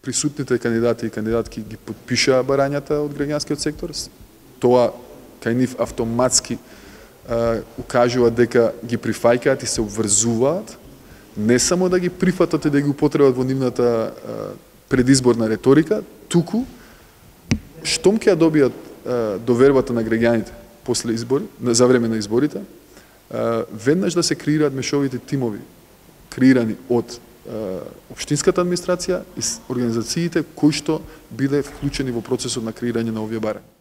присутните кандидати и кандидатки ги подпишаа барањата од граѓанскиот сектор. Тоа кај нив автоматски укажува дека ги прифаќаат и се обврзуваат, не само да ги прифатат и да ги употребат во нивната предизборна реторика, туку штом ќе ја добијат довербата на граѓаните после избори, за време на изборите, веднаш да се креираат мешовите тимови, креирани од општинската администрација и организациите кои што биле вклучени во процесот на креирање на овие барања.